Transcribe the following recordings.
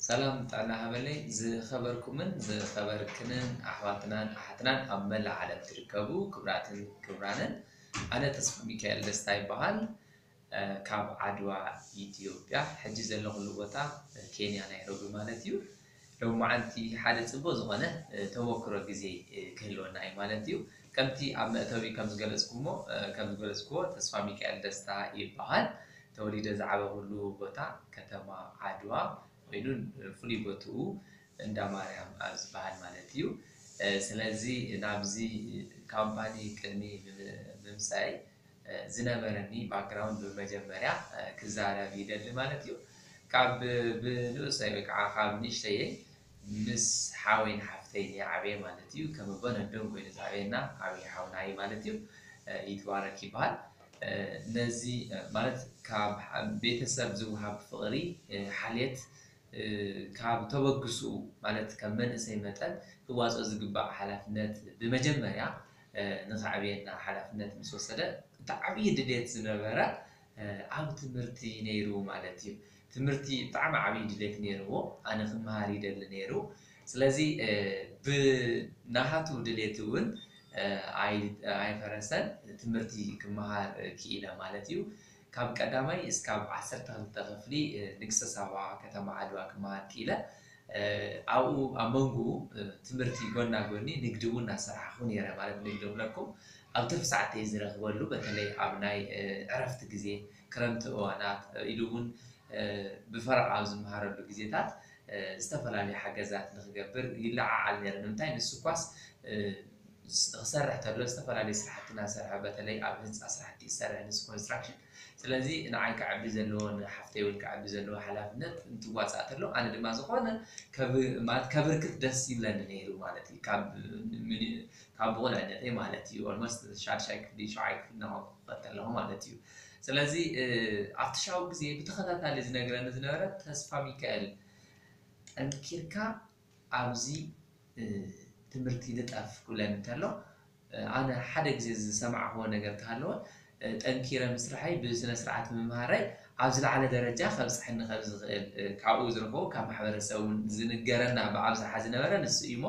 ሰላም ጥዕና ሃበለይ ዝኸበርኩምን ዝኸበርክንን ኣሕዋትናን ኣሓትናን ኣብ መላእ ዓለም ትርከቡ ክብራትን ክብራንን፣ ኣነ ተስፋ ሚካኤል ደስታ ይበሃል። ካብ ዓድዋ ኢትዮጵያ፣ ሕጂ ዘለኹሉ ቦታ ኬንያ ናይሮቢ ማለት እዩ። ሎማዓንቲ ሓደ ጽቡቕ ዝኾነ ተሞክሮ ግዜ ክህልወና እዩ ማለት እዩ። ከምቲ ኣብ መእተዊ ከም ዝገለጽኩሞ ከም ዝገለጽኩዎ፣ ተስፋ ሚካኤል ደስታ ይበሃል። ተወሊደ ዝዓበኹሉ ቦታ ከተማ ዓድዋ ኮይኑ፣ ፍሉይ ቦትኡ እንዳ ማርያም ኣብ ዝበሃል ማለት እዩ። ስለዚ ናብዚ ካምፓኒ ቅድሚ ምምፃይ ዝነበረኒ ባክግራውንድ ብመጀመርያ ክዛረብ ይደሊ ማለት እዩ። ካብ ብንእሰይ ወይ ከዓ ካብ ንእሽተየይ ምስ ሓወይን ሓፍተይን ይዓበየ ማለት እዩ። ከም ኣቦን ኣዶን ኮይኑ ዝዓበየና ዓብዪ ሓውና እዩ ማለት እዩ። ይትባረክ ይበሃል። ነዚ ማለት ካብ ቤተሰብ ዝወሃብ ፍቕሪ፣ ሓልየት፣ ካብ ተበግስኡ ማለት ከም መንእሰይ መጠን ክዋፅኦ ዝግባእ ሓላፍነት ብመጀመርያ ንኸዕብየና ሓላፍነት ምስ ወሰደ፣ እቲ ዓብዪ ድሌት ዝነበረ ኣብ ትምህርቲ ነይሩ ማለት እዩ። ትምህርቲ ብጣዕሚ ዓብዪ ድሌት ነይርዎ። ኣነ ክመሃር ይደሊ ነይሩ። ስለዚ ብናሃቱ ድሌት እውን ኣይፈረሰን፣ ትምህርቲ ክመሃር ክኢለ ማለት እዩ። ካብ ቀዳማይ እስካብ ዓሰርተ ክልተ ክፍሊ ንግስተ ሳባ ከተማ ዓድዋ ክመሃር ክኢለ። ኣብኡ ኣብ መንጎኡ ትምህርቲ ጎና ጎኒ ንግዲ እውን እናሰራሕኹ ነይረ። ማለት ንግዲ ክብለኩም ኣብ ትርፊ ሰዓተይ ዝረኽበሉ፣ በተለይ ኣብ ናይ ዕረፍቲ ግዜ፣ ክረምቲ እዋናት ኢሉ እውን ብፈረቓ ኣብ ዝመሃረሉ ግዜታት ዝተፈላለዩ ሓገዛት ንክገብር ይለዓዓል ነይረ። ንምንታይ ንሱ ኳስ ክሰርሕ ተሎ ዝተፈላለዩ ስራሕቲ እናሰርሐ፣ በተለይ ኣብ ህንፃ ስራሕቲ ይሰርሕ፣ ንሱ ኮንስትራክሽን። ስለዚ ንዓይ ክዓቢ ዘለዎ፣ ንሓፍተይ እውን ክዓቢ ዘለዎ ሓላፍነት እንትዋፃእ ተሎ፣ ኣነ ድማ ዝኾነ ማለት ከብርክት ደስ ይብለኒ ነይሩ ማለት እዩ። ካብ ካብ ብቑልዕነተይ ማለት እዩ። ኦልሞስት ሻድሻይ ክፍሊ ሸውዓይ ክፍሊ እናኸድኩ ክኸተል ኣለኹ ማለት እዩ። ስለዚ ኣብቲ ሻው ግዜ ብተኸታታሊ ዝነግረኒ ዝነበረ፣ ተስፋ ሚካኤል፣ ጠንኪርካ ኣብዚ ትምህርቲ ልጠፍ ክብለኒ እንተሎ፣ ኣነ ሓደ ግዜ ዝሰማዕክዎ ነገር እንተሃለወ፣ ጠንኪረ ምስራሐይ፣ ብስነ ስርዓት ምምሃረይ ኣብ ዝለዓለ ደረጃ ከብፅሐኒ ከም ዝኽእል፣ ካብኡ ዝረኽቦ ካብ ማሕበረሰብ እውን ዝንገረና ብኣብዝሓ ዝነበረ ንሱ እዩ እሞ፣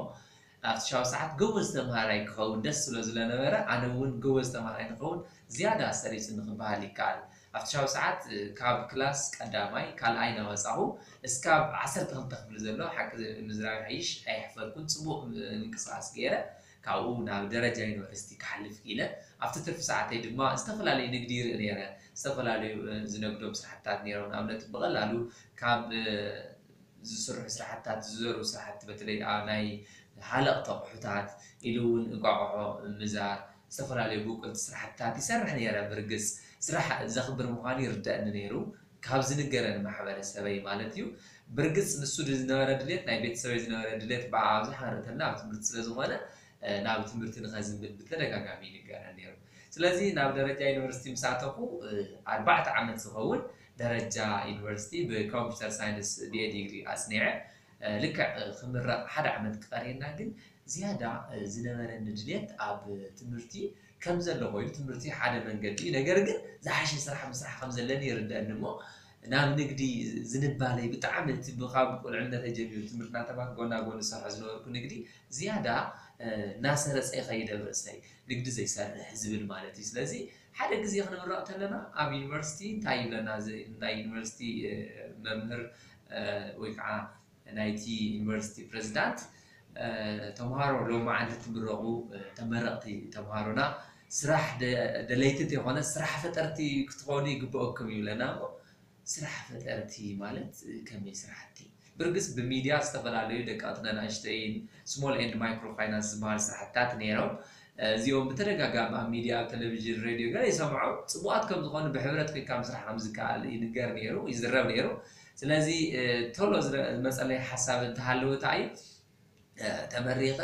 ኣብቲ ሻው ሰዓት ጎበዝ ተምሃራይ ክኸውን ደስ ዝብሎ ዝለነበረ፣ ኣነ እውን ጎበዝ ተምሃራይ ንኸውን ዝያዳ ኣሰሪጹ ንክበሃል ይከኣል። ኣብቲ ሻው ሰዓት ካብ ክላስ ቀዳማይ ካልኣይ እናወጻኹ እስካብ ዓሰርተ ክልተ ክፍሊ ዘሎ፣ ሓቂ ምዝራብ ይሓይሽ፣ ኣየሕፈርኩን፣ ጽቡቕ ምንቅስቓስ ገይረ። ካብኡ ናብ ደረጃ ዩኒቨርሲቲ ክሓልፍ ክኢለ። ኣብቲ ትርፊ ሰዓተይ ድማ ዝተፈላለዩ ንግዲ ይርኢ ነይረ። ዝተፈላለዩ ዝነግዶም ስራሕትታት ነይሮም። ንኣብነት ብቐላሉ ካብ ዝስርሑ ስራሕትታት፣ ዝዘሩ ስራሕቲ፣ በተለይ ኣብ ናይ ሃለቕቲ ኣቑሑታት ኢሉ እውን እንቋቑሖ ምዛር፣ ዝተፈላለዩ ብቁልቲ ስራሕትታት ይሰርሕ ነይረ። ብርግፅ ስራሕ ዘኽብር ምዃኑ ይርደእኒ ነይሩ፣ ካብ ዝንገረኒ ማሕበረሰበይ ማለት እዩ። ብርግፅ ንሱ ዝነበረ ድሌት፣ ናይ ቤተሰበይ ዝነበረ ድሌት ብኣብዝሓ ንርኢ እንተለና ኣብ ትምህርቲ ስለዝኾነ፣ ናብ ትምህርቲ ንኸዝንብል ብተደጋጋሚ ይንገረኒ ነይሩ። ስለዚ ናብ ደረጃ ዩኒቨርሲቲ ምስ ኣተኹ፣ ኣርባዕተ ዓመት ዝኸውን ደረጃ ዩኒቨርሲቲ ብኮምፒውተር ሳይንስ ቢኤ ዲግሪ ኣጽኒዐ። ልክዕ ክምረቕ ሓደ ዓመት ክቐርየና ግን ዝያዳ ዝነበረኒ ድሌት ኣብ ትምህርቲ ከም ዘሎ ኮይኑ፣ ትምህርቲ ሓደ መንገዲ እዩ፣ ነገር ግን ዝሓሸ ስራሕ ምስራሕ ከም ዘለኒ ይርደኣኒ እሞ፣ ናብ ንግዲ ዝንባለይ ብጣዕሚ እቲ ካብ ቁልዕነተይ ጀሚሩ ትምህርቲ እናተማሃርኩ ጎና ጎኒ ዝሰርሖ ዝነበርኩ ንግዲ ዝያዳ እናሰረፀ ይኸይድ ኣብ ርእሰይ፣ ንግዲ ዘይሰርሕ ዝብል ማለት እዩ። ስለዚ ሓደ ግዜ ክንምረቕ ከለና ኣብ ዩኒቨርሲቲ እንታይ ይብለና፣ ናይ ዩኒቨርሲቲ መምህር ወይ ከዓ ናይቲ ዩኒቨርሲቲ ፕሬዚዳንት፣ ተምሃሮ ሎማዓንቲ ትምረቑ፣ ተመረቕቲ ተምሃሮና ስራሕ ደለይቲ እንተይኮነ ስራሕ ፈጠርቲ ክትኾኑ ይግበኣኩም ይብለና እሞ፣ ስራሕ ፈጠርቲ ማለት ከመይ ስራሕቲ? ብርግፅ ብሚድያ ዝተፈላለዩ ደቀቕትን ኣናእሽተይን፣ small and micro finance ዝበሃሉ ስራሕትታት ነይሮም። እዚኦም ብተደጋጋሚ ኣብ ሚድያ፣ ኣብ ቴሌቪዥን፣ ሬድዮ ገለ ይሰምዖም። ፅቡቓት ከም ዝኾኑ፣ ብሕብረት ኮይንካ ምስራሕ ከም ዝከኣል ይንገር ነይሩ፣ ይዝረብ ነይሩ። ስለዚ ቶሎ ዝመፀለይ ሓሳብ እንተሃለወ እንታይ እዩ፣ ተመሪቐ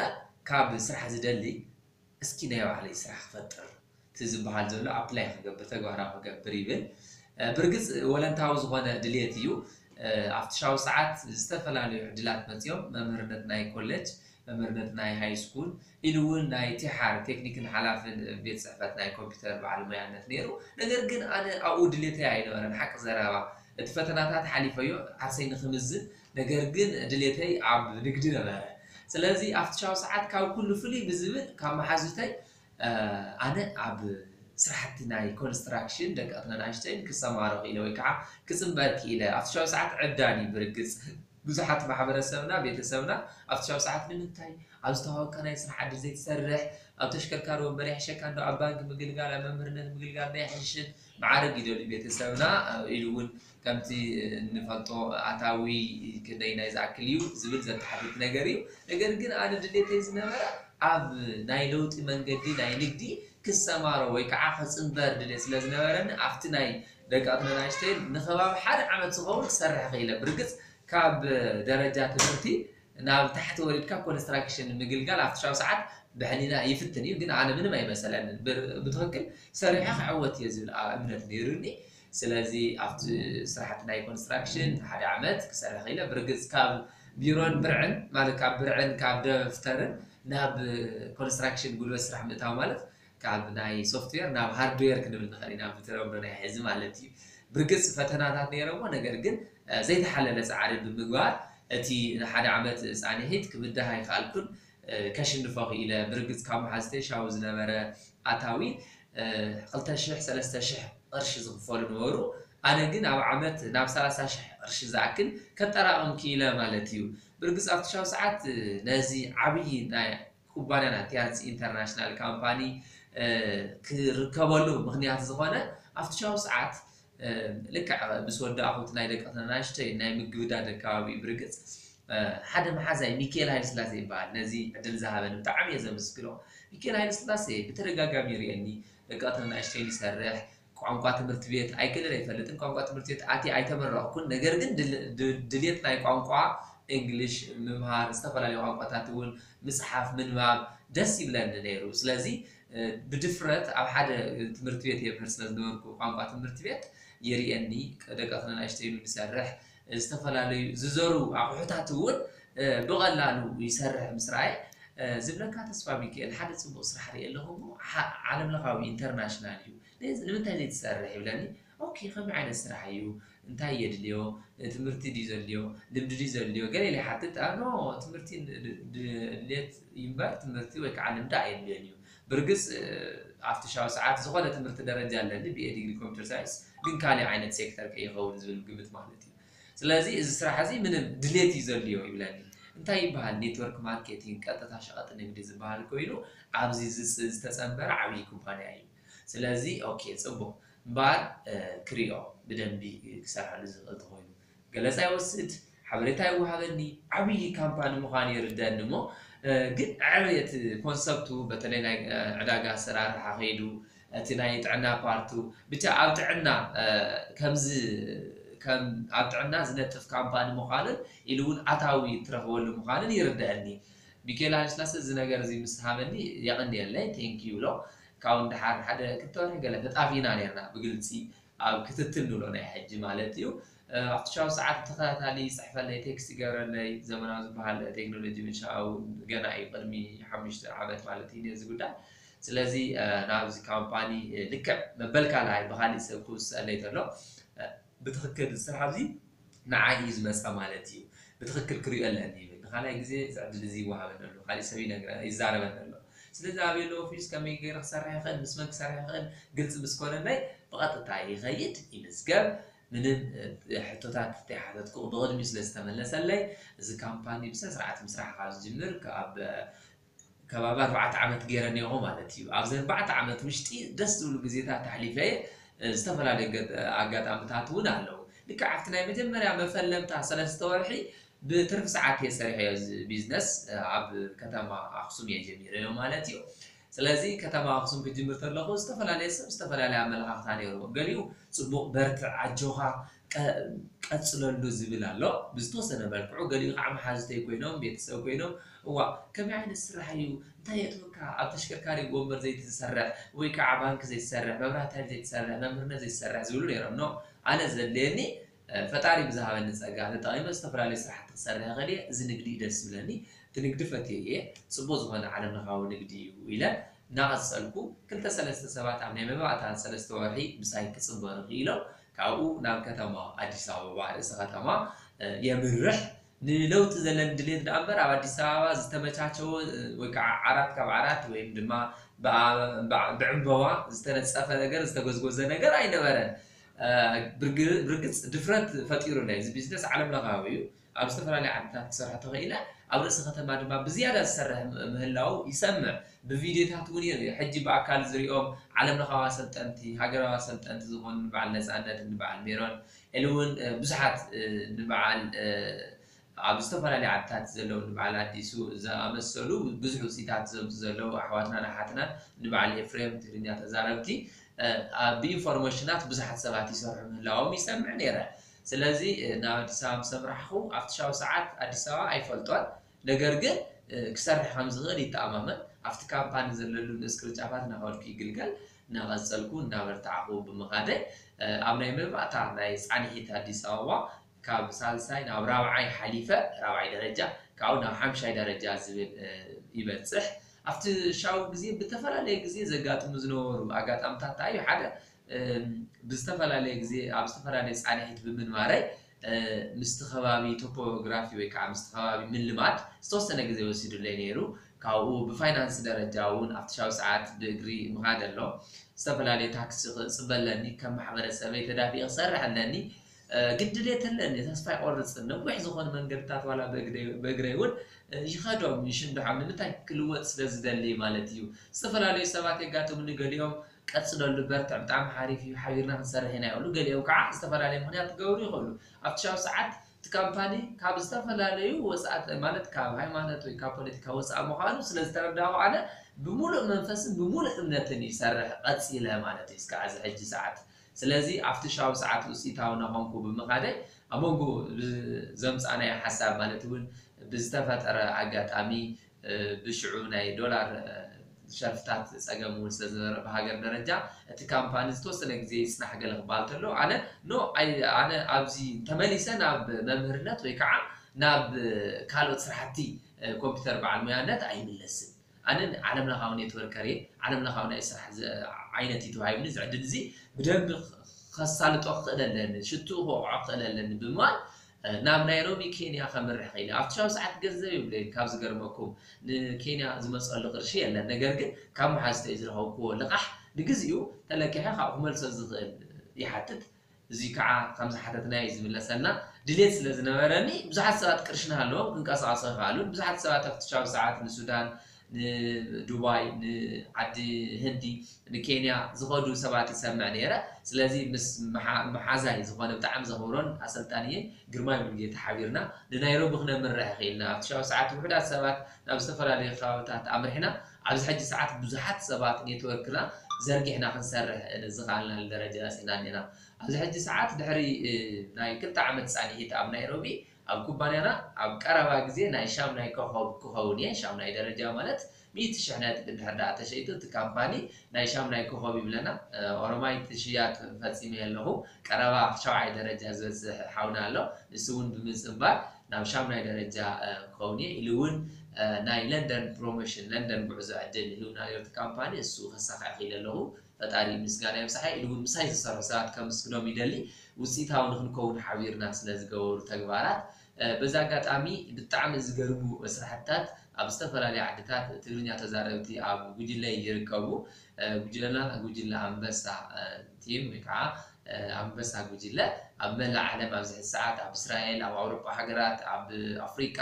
ካብ ስራሕ ዝደሊ እስኪ ናይ ባዕለይ ስራሕ ክፈጥር፣ እቲ ዝበሃል ዘሎ ኣፕላይ ክገብር፣ ተግባራዊ ክገብር ይብል። ብርግፅ ወለንታዊ ዝኾነ ድልየት እዩ። ኣብቲ ሻው ሰዓት ዝተፈላለዩ ዕድላት መፅዮም፣ መምህርነት ናይ ኮሌጅ፣ መምህርነት ናይ ሃይ ስኩል፣ ኢሉ እውን ናይ ቲሓር ቴክኒክን ሓላፍን ቤት ፅሕፈት ናይ ኮምፒውተር በዓል ሞያነት ነይሩ። ነገር ግን ኣነ ኣብኡ ድሌተይ ኣይነበረን፣ ሓቂ ዘረባ። እቲ ፈተናታት ሓሊፈዮ ዓርሰይ ንክምዝን፣ ነገር ግን ድሌተይ ኣብ ንግዲ ነበረ። ስለዚ ኣብቲ ሻው ሰዓት ካብ ኩሉ ፍልይ ብዝብል ካብ መሓዙተይ ኣነ ኣብ ስራሕቲ ናይ ኮንስትራክሽን ደቀቕትን ኣናእሽተይን ክሰማሮ ክኢለ ወይ ከዓ ክፅንበር ክኢለ ኣብቲ ሻው ሰዓት ዕብዳን እዩ። ብርግፅ ብዙሓት ማሕበረሰብና ቤተሰብና ኣብቲ ሻው ሰዓት ንምንታይ ኣብ ዝተዋወካ ናይ ስራሕ ዕድል ዘይትሰርሕ? ኣብ ተሽከርካሪ ወንበር ይሕሸካ እንዶ ኣብ ባንክ ምግልጋል ኣብ መምህርነት ምግልጋል ናይ ሕሽን መዓርግ ይደልዩ ቤተሰብና ኢሉ እውን ከምቲ እንፈልጦ ኣታዊ ክንደይ ናይ ዝኣክል እዩ ዝብል ዘተሓትት ነገር እዩ። ነገር ግን ኣነ ድሌተይ ዝነበረ ኣብ ናይ ለውጢ መንገዲ ናይ ንግዲ ክሰማሮ ወይ ከዓ ክፅንበር ድሌት ስለ ዝነበረኒ ኣብቲ ናይ ደቀቕትን ኣናእሽተይን ንከባቢ ሓደ ዓመት ዝኸውን ክሰርሕ ክኢለ። ብርግፅ ካብ ደረጃ ትምህርቲ ናብ ታሕቲ ወሪድካ ኮንስትራክሽን ምግልጋል ኣብቲ ሻው ሰዓት ብሕሊና ይፍትን እዩ፣ ግን ኣነ ምንም ኣይመሰለንን። ብትክክል ሰሪሐ ክዕወት እየ ዝብል እምነት ነይሩኒ። ስለዚ ኣብቲ ስራሕቲ ናይ ኮንስትራክሽን ሓደ ዓመት ክሰርሕ ክኢለ። ብርግፅ ካብ ቢሮን ብርዕን ማለት ካብ ብርዕን ካብ ደፍተርን ናብ ኮንስትራክሽን ጉልበት ስራሕ ምእታው ማለት ካብ ናይ ሶፍትዌር ናብ ሃርድዌር ክንብል ንኽእል ኢና ብተለምዶ ናይ ሕዚ ማለት እዩ። ብርግፅ ፈተናታት ነይረሞ፣ ነገር ግን ዘይተሓለለ ፃዕሪ ብምግባር እቲ ንሓደ ዓመት ፃንሒት ክብዳህ ኣይከኣልኩን። ከሽንፎ ክኢለ። ብርግፅ ካብ መሓዝተይ ሻው ዝነበረ ኣታዊ ክልተ ሽሕ ሰለስተ ሽሕ ቅርሺ ዝኽፈሉ ነበሩ። ኣነ ግን ኣብ ዓመት ናብ ሰላሳ ሽሕ ቅርሺ ዝኣክል ከጠራቕም ክኢለ ማለት እዩ። ብርግፅ ኣብቲ ሻው ሰዓት ነዚ ዓብዪ ናይ ኩባንያ ናት ቲያንስ ኢንተርናሽናል ካምፓኒ ክርከበሉ ምክንያት ዝኾነ ኣብቲ ሻው ሰዓት ልክዕ ምስ ወዳእኹ እቲ ናይ ደቀቕትን ኣናእሽተይን ናይ ምግብዳድ ኣከባቢ እዩ። ብርግፅ ሓደ መሓዛይ ሚካኤል ሃይለስላሴ ይበሃል ነዚ ዕድል ዝሃበኒ ብጣዕሚ እየ ዘመስግኖ። ሚካኤል ሃይለስላሴ ብተደጋጋሚ ይርእየኒ፣ ደቀቕትን ኣናእሽተይን ይሰርሕ፣ ቋንቋ ትምህርቲ ቤት ኣይክእልን ኣይፈልጥን፣ ቋንቋ ትምህርቲ ቤት ኣትየ ኣይተመረቕኩን፣ ነገር ግን ድል- ድ- ድሌት ናይ ቋንቋ እንግሊሽ ምምሃር፣ ዝተፈላለዩ ቋንቋታት እውን ምፅሓፍ ምንባብ ደስ ይብለኒ ነይሩ። ስለዚ ብድፍረት ኣብ ሓደ ትምህርቲ ቤት የምህር ስለ ዝነበርኩ ቋንቋ ትምህርቲ ቤት ይርእየኒ፣ ደቀቕትን ኣናእሽተይን ይሰርሕ፣ ዝተፈላለዩ ዝዘሩ ኣቑሑታት እውን ብቐላሉ ይሰርሕ ምስ ረኣየ ዝብለካ ተስፋ ሚካኤል ሓደ ፅቡቕ ስራሕ ርኢ ኣለኹ እሞ ዓለም ለኻዊ ኢንተርናሽናል እዩ ንምንታይ ዘይትሰርሕ ይብለኒ። ኦኬ ከመይ ዓይነት ስራሕ እዩ እንታይ የድልዮ ትምህርቲ ድዩ ዘድልዮ ልምዲ ድዩ ዘድልዮ ገለ ኢለ ይሓትት። ኖ ትምህርቲ ድሌት እዩ እምበር ትምህርቲ ወይ ከዓ ልምዲ ኣየድልዮን እዩ። ብርግፅ ኣብቲ ሻው ሰዓት ዝኾነ ትምህርቲ ደረጃ ኣለኒ ብኤ ዲግሪ ኮምፒተር ሳይንስ ግን ካሊእ ዓይነት ሴክተር ከይኸውን ዝብል ግምት ማለት እዩ። ስለዚ እዚ ስራሕ እዚ ምንም ድሌት እዩ ዘድልዮ ይብለኒ። እንታይ ይበሃል ኔትወርክ ማርኬቲንግ ቀጥታ ሸቐጥ ንግዲ ዝበሃል ኮይኑ ኣብዚ ዝተፀንበረ ዓብዪ ኩባንያ እዩ። ስለዚ ኦኬ ፅቡቕ እምበኣር ክሪኦ ብደንቢ ክሰርሐሉ ዝኽእል ተኾይኑ ገለፃ ይወስድ ሓበሬታ ይወሃበኒ። ዓብዪ ካምፓኒ ምዃኑ ይርደኒ እሞ ግን ዕብየት ኮንሰፕቱ በተለይ ናይ ዕዳጋ ኣሰራርሓ ከይዱ እቲ ናይ ጥዕና ፓርቱ ብቻ ኣብ ጥዕና ከምዚ ከም ኣብ ጥዕና ዝነጥፍ ካምፓኒ ምዃኑን ኢሉ እውን ኣታዊ ትረኽበሉ ምዃኑን ይርደአኒ። ሚካኤል ሃይለስላሴ እዚ ነገር እዚ ምስ ሃበኒ የቐንየለይ ቴንክ ዩ ብሎ ካብኡ ንደሓር ሓደ ክልተ ወርሒ ገለ ተጣፊና ነርና ብግልፂ ኣብ ክትትል ንብሎ ናይ ሕጂ ማለት እዩ። ኣብቲ ሻው ሰዓት ብተኸታታሊ ይፅሕፈለይ ቴክስት ይገብረለይ ዘመናዊ ዝበሃል ቴክኖሎጂ ምሻው ገና እዩ ቅድሚ ሓሙሽተ ዓመት ማለት እዩ ነዚ ጉዳይ። ስለዚ ናብዚ ካምፓኒ ልክዕ መበል ካልኣይ ብካሊእ ሰብ ክውሰለይ ተሎ ብትክክል እዚ ስራሕ እዚ ንዓይ እዩ ዝመፀ ማለት እዩ። ብትክክል ክሪኦ ኣለኒ ይብል። ንካልኣይ ግዜ እዚ ዕድል እዚ ይወሃበኒ ኣሎ፣ ካሊእ ሰብ ይነግረ ይዛረበኒ ኣሎ። ስለዚ ኣበይ ኣሎ ኦፊስ፣ ከመይ ገይረ ክሰርሕ ይኽእል፣ ምስ መን ክሰርሕ ይኽእል ግልፂ ምስ ኮነለይ ብቐጥታ ይኸይድ ይምዝገብ። ምንም ሕቶታት ተይሓተትኩ ብቕድሚኡ ስለ ዝተመለሰለይ እዚ ካምፓኒ ብስነ ስርዓት ምስራሕ ካብ ዝጅምር ካብ ከባቢ ኣርባዕተ ዓመት ገይረ እኒኦኹ ማለት እዩ። ኣብዚ ኣርባዕተ ዓመት ውሽጢ ደስ ዝብሉ ግዜታት ኣሕሊፈ እየ። ዝተፈላለዩ ኣጋጣሚታት እውን ኣለዉ። ልክዕ ኣብቲ ናይ መጀመርያ መፈለምታ ሰለስተ ወርሒ ብትርፊ ሰዓት እየ ሰሪሐዮ እዚ ቢዝነስ ኣብ ከተማ ኣክሱም እየ ጀሚረዮ ማለት እዩ። ስለዚ ከተማ ኣክሱም ክጅምር ከለኹ ዝተፈላለየ ሰብ ዝተፈላለየ ኣመለኻኽታ ነይርዎ። ገሊኡ ፅቡቕ በርትዕ ኣጆኻ ቀፅለሉ ዝብል ኣሎ ብዝተወሰነ መልክዑ። ገሊኡ ከዓ መሓዙተይ ኮይኖም ቤተሰብ ኮይኖም እዋ ከመይ ዓይነት ስራሕ እዩ እንታይ የእትወካ ኣብ ተሽከርካሪ ወንበር ዘይትሰርሕ ወይ ከዓ ባንክ ዘይትሰርሕ መብራህቲ ሓይሊ ዘይትሰርሕ መምህርነት ዘይትሰርሕ ዝብሉ ነይሮም። ኖ ኣነ ዘድልየኒ ፈጣሪ ብዝሃበኒ ፀጋ ተጠቒመ ዝተፈላለዩ ስራሕቲ ክሰርሕ ይኽእል እየ። እዚ ንግዲ እዩ ደስ ዝብለኒ። እቲ ንግዲ ፈትየ እየ። ፅቡቕ ዝኾነ ዓለም ለኻዊ ንግዲ እዩ ኢለ እናቐፀልኩ ክልተ ሰለስተ ሰባት ኣብ ናይ መባእታ ሰለስተ ወርሒ ምሳይ ክፅንበሩ ክኢሎም ካብኡ ናብ ከተማ ኣዲስ ኣበባ ርእሰ ከተማ የምርሕ። ንለውጢ ዘለኒ ድሌት ደኣ እምበር ኣብ ኣዲስ ኣበባ ዝተመቻቸወ ወይ ከዓ ዓራት ካብ ዓራት ወይም ድማ ብዕምበባ ዝተነፀፈ ነገር ዝተጎዝጎዘ ነገር ኣይነበረን። ብርግፅ ድፍረት ፈጢሩለይ። እዚ ቢዝነስ ዓለም ለኻዊ እዩ። ኣብ ዝተፈላለዩ ዓድታት ክሰርሕ ተኽኢለ። ኣብ ርእሲ ከተማ ድማ ብዝያዳ ዝሰርሕ ምህላው ይሰምዕ። ብቪድዮታት እውን ሕጂ ብኣካል ዝሪኦም ዓለም ለኻዊ ኣሰልጠንቲ፣ ሃገራዊ ኣሰልጠንቲ ዝኾኑ ንበዓል ነፃነት፣ ንበዓል ሜሮን ኢሉ እውን ብዙሓት ንበዓል ኣብ ዝተፈላለዩ ዓድታት ዘለዉ ንበዓል ኣዲሱ ዝኣመሰሉ ብዙሕ ውፅኢታት ዘምፁ ዘለዉ ኣሕዋትናን ኣሓትናን ንበዓል ኤፍሬም ትግርኛ ተዛረብቲ ብኢንፎርሜሽናት ብዙሓት ሰባት ይሰርሑ ምህላዎም ይሰምዕ ነይረ። ስለዚ ናብ ኣዲስ ኣበባ ምስ ኣምራሕኹ ኣብቲ ሻው ሰዓት ኣዲስ ኣበባ ኣይፈልጦን። ነገር ግን ክሰርሕ ከም ዝኽእል ይተኣማመን። ኣብቲ ካምፓኒ ዘለሉ ንእስ ቅርንጫፋት እናኸድኩ ይግልገል እናቐፀልኩ እናበርታዕኹ ብምኻደይ ኣብ ናይ መባእታ ናይ ፃንሒት ኣዲስ ኣበባ ካብ ሳልሳይ ናብ ራብዓይ ሓሊፈ ራብዓይ ደረጃ ካብኡ ናብ ሓምሻይ ደረጃ ዝብል ይበፅሕ። ኣብቲ ሻው ግዜ ብተፈላለየ ግዜ ዘጋጥሙ ዝነበሩ ኣጋጣምታት እንታይ እዩ? ሓደ ብዝተፈላለየ ግዜ ኣብ ዝተፈላለየ ፃንሒት ብምንባረይ ምስቲ ከባቢ ቶፖግራፊ ወይ ከዓ ምስቲ ከባቢ ምልማድ ዝተወሰነ ግዜ ወሲዱለይ ነይሩ። ካብኡ ብፋይናንስ ደረጃ እውን ኣብቲ ሻው ሰዓት ብእግሪ ምኻድ ኣሎ። ዝተፈላለየ ታክሲ ክፅበ ኣለኒ። ከም ማሕበረሰበይ ተዳፊ ክሰርሕ ኣለኒ። ግን ድሌት ኣለኒ፣ ተስፋ ይቆርፅን። ነዊሕ ዝኾኑ መንገድታት ዋላ ብእግረይ እውን ይኸዶም ይሽንድሖም። ንምንታይ? ክልወጥ ስለ ዝደሊ ማለት እዩ። ዝተፈላለዩ ሰባት የጋጥሙኒ። ገሊኦም ቀፅለሉ፣ በርትዕ፣ ብጣዕሚ ሓሪፍ እዩ፣ ሓቢርና ክንሰርሕ ኢና ይብሉ። ገሊኦም ከዓ ዝተፈላለየ ምክንያት ክገብሩ ይኽእሉ። ኣብቲ ሻው ሰዓት እቲ ካምፓኒ ካብ ዝተፈላለዩ ወፃእቲ ማለት ካብ ሃይማኖት ወይ ካብ ፖለቲካ ወፃእ ምዃኑ ስለ ዝተረዳእኩ ኣነ ብምሉእ መንፈስን ብምሉእ እምነትን ይሰርሕ ቀፂለ ማለት እዩ እስካዕ እዚ ሕጂ ሰዓት። ስለዚ ኣብቲ ሻው ሰዓት ውፅኢታዊ ናኾንኩ ብምኻደይ ኣብ መንጎ ዘምፃእናዮ ሓሳብ ማለት እውን ብዝተፈጠረ ኣጋጣሚ ብሽዑ ናይ ዶላር ሸርፍታት ፀገም እውን ስለ ዝነበረ ብሃገር ደረጃ እቲ ካምፓኒ ዝተወሰነ ግዜ ይፅናሕ ገለ ክበሃል ተሎ ኣነ ኖ ኣነ ኣብዚ ተመሊሰ ናብ መምህርነት ወይ ከዓ ናብ ካልኦት ስራሕቲ ኮምፒውተር በዓል ሙያነት ኣይምለስን። ኣነ ዓለም ለኻዊ ኔትወርከር እየ። ዓለም ለኻዊ ናይ ስራሕ ዓይነት እዩ ተዋሂቡኒ። እዚ ዕድል እዚ ብደንቢ ከሳልጦ ክኽእል ኣለኒ፣ ሽትኡ ክወቕዖ ክኽእል ኣለኒ ብምባል ናብ ናይሮቢ ኬንያ ከምርሕ ኽኢለ። ኣብቲ ሻው ሰዓት ገንዘብ የብለይን። ካብ ዝገርመኩም ንኬንያ ዝመፀሉ ቅርሺ የለን። ነገር ግን ካብ መሓዝተይ ዝረኸብክዎ ልቓሕ ንግዚኡ ተለቂሐ ካብኡ ክመልሶ ዝኽእል ይሓትት። እዚ ከዓ ከም ዝሓተትናዮ እዩ ዝምለሰልና። ድሌት ስለ ዝነበረኒ ብዙሓት ሰባት ቅርሺ እናሃለዎም ክንቀሳቐሱ ኣይኸኣሉን። ብዙሓት ሰባት ኣብቲ ሻው ሰዓት ንሱዳን፣ ንዱባይ፣ ንዓዲ ህንዲ፣ ንኬንያ ዝኸዱ ሰባት ይሰምዕ ነይረ። ስለዚ ምስ መሓዛይ ዝኾነ ብጣዕሚ ዘኽብሮን ኣሰልጣንየይ ግርማይ ሙሉጌታ ሓቢርና ንናይሮቢ ክነምርሕ ኽኢልና። ኣብቲ ሻው ሰዓት ውሑዳት ሰባት ናብ ዝተፈላለዩ ከባብታት ኣምሪሕና። ኣብዚ ሕጂ ሰዓት ብዙሓት ሰባት ኔትወርክና ዘርጊሕና ክንሰርሕ ዝኸኣልናሉ ደረጃ በፂሕና እኒና። ኣብዚ ሕጂ ሰዓት ድሕሪ ናይ ክልተ ዓመት ፃንሒት ኣብ ናይሮቢ ኣብ ኩባንያና ኣብ ቀረባ ግዜ ናይ ሻምናይ ኮኸብ ክኸውን እየ። ሻምናይ ደረጃ ማለት ሚእቲ ሽሕ ነጥቢ እንድሕር ደኣ ተሸይጡ እቲ ካምፓኒ ናይ ሻምናይ ኮኸብ ይብለና። ኦሮማይ እቲ ሽያጥ ፈፂመ ኣለኹ። ቀረባ ሻውዓይ ደረጃ ዝበፅሕ ሓውና ኣሎ። ንሱ እውን ብምፅንባር ናብ ሻምናይ ደረጃ ክኸውን እየ ኢሉ እውን ናይ ለንደን ፕሮሞሽን ለንደን ጉዕዞ ዕድል ይህብና ነሩ እቲ ካምፓኒ እሱ ከሳኽዕ ክኢለ ኣለኹ። ፈጣሪ ምስጋና የብዝሓ ኢሉ እውን ምሳይ ዝሰርሑ ሰባት ከምስግኖም ይደሊ። ውፅኢታዊ ንክንከውን ሓቢርና ስለ ዝገበሩ ተግባራት በዚ ኣጋጣሚ ብጣዕሚ ዝገርሙ ስራሕትታት ኣብ ዝተፈላለዩ ዓድታት ትግርኛ ተዛረብቲ ኣብ ጉጅለ ይርከቡ። ጉጅለና ጉጅለ ኣንበሳ ቲም ወይ ከዓ ኣንበሳ ጉጅለ ኣብ መላእ ዓለም ኣብዚ ሕዚ ሰዓት ኣብ እስራኤል፣ ኣብ ኣውሮጳ ሃገራት፣ ኣብ ኣፍሪቃ፣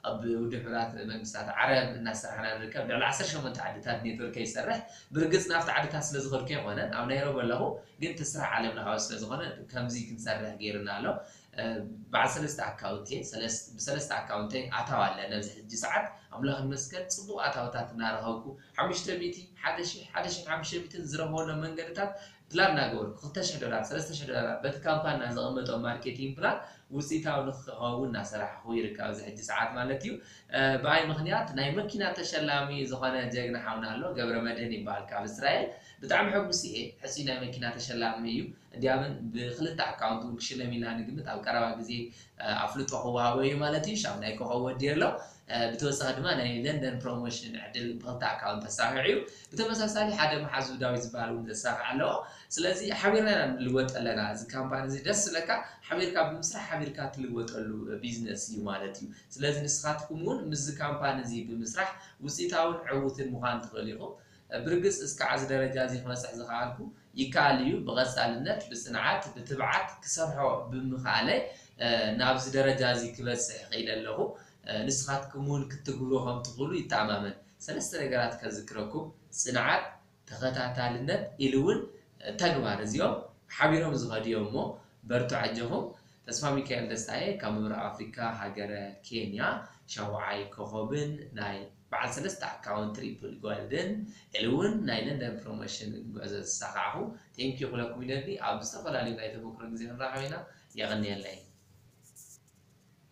ኣብ ውድብ ሕቡራት መንግስታት ዓረብ እናሰራሕና ንርከብ። ልዕሊ ዓሰርተ ሸሞንተ ዓድታት ኔትወርከይ ይሰርሕ። ብርግፅ ናብቲ ዓድታት ስለ ዝኸድኩ ኣይኮነን፣ ኣብ ናይሮቢ ኣለኹ፣ ግን እቲ ስራሕ ዓለም ለኻዊ ስለ ዝኾነ ከምዚ ክንሰርሕ ገይሩና ኣሎ። በዓል ሰለስተ ኣካውንት እየ፣ ብሰለስተ ኣካውንተይ ኣታዊ ኣለኒ ኣብዚ ሕጂ ሰዓት። ኣምላኽ ይመስገን ፅቡቕ ኣታውታት እናረኸብኩ ሓሙሽተ ሚእቲ፣ ሓደ ሺሕ፣ ሓደ ሺሕን ሓሙሽተ ሚእትን ዝረኽበሎም መንገድታት ፕላን እናገበርኩ ክልተ ሽሕ ዶላር፣ ሰለስተ ሽሕ ዶላር በቲ ካምፓኒና ዘቐመጦ ማርኬቲንግ ፕላን ውፅኢታዊ ንክኸውን እናሰራሕኹ ይርከብ ኣብዚ ሕጂ ሰዓት ማለት እዩ። ብኣይ ምኽንያት ናይ መኪና ተሸላሚ ዝኾነ ጀግና ሓውና ኣሎ፣ ገብረ መድህን ይበሃል ካብ እስራኤል። ብጣዕሚ ሕጉስ እየ፣ ሕፁይ ናይ መኪና ተሸላሚ እዩ። እንዲያምን ብክልተ ኣካውንት እውን ክሽለም ኢና ንግምት። ኣብ ቀረባ ግዜ ኣፍልጦ ክወሃቦ እዩ ማለት እዩ። ሻምናይ ኮኸብ ወዲ ኣሎ። ብተወሳኺ ድማ ናይ ለንደን ፕሮሞሽን ዕድል ብክልተ ኣካውንት ተሳኺዑ እዩ። ብተመሳሳሊ ሓደ መሓዙ ዳዊት ዝበሃል እውን ዘሳኽዕ ኣለዎ። ስለዚ ሓቢርና ኢና ንልወጥ ኣለና። እዚ ካምፓኒ እዚ ደስ ስለካ ሓቢርካ ብምስራሕ ሓቢርካ ትልወጠሉ ቢዝነስ እዩ ማለት እዩ። ስለዚ ንስኻትኩም እውን ምስዚ ካምፓኒ እዚ ብምስራሕ ውፅኢታውን ዕውትን ምዃን ትኽእል ኢኹም። ብርግፅ እስካዕ እዚ ደረጃ እዚ ክበፅሕ ዝኸኣልኩ ይከኣል እዩ። ብቐፃልነት፣ ብፅንዓት፣ ብትብዓት ክሰርሖ ብምኽኣለይ ናብዚ ደረጃ እዚ ክበፅሕ ክኢለ ኣለኹ። ንስኻትኩም እውን ክትትግብሩ ከም ትኽእሉ ይተኣማመን። ሰለስተ ነገራት ከዝክረኩም፣ ፅንዓት፣ ተኸታታልነት ኢሉ እውን ተግባር። እዚኦም ሓቢሮም ዝኸዱ እዮም እሞ በርቱ ኣጆኹም። ተስፋ ሚካኤል ደስታየ ካብ ምብራቕ ኣፍሪካ ሃገረ ኬንያ ሻውዓይ ኮኸብን ናይ በዓል ሰለስተ ኣካውንት ትሪፕል ጎልድን ኢሉ እውን ናይ ለንደን ፕሮሞሽን ጉዕዞ ዝሳኻዕኹ። ቴንኪዩ ክብለኩም ይደሊ። ኣብ ዝተፈላለዩ ናይ ተመክሮ ግዜ ክንራኸብ ኢና። የቐንየለይ።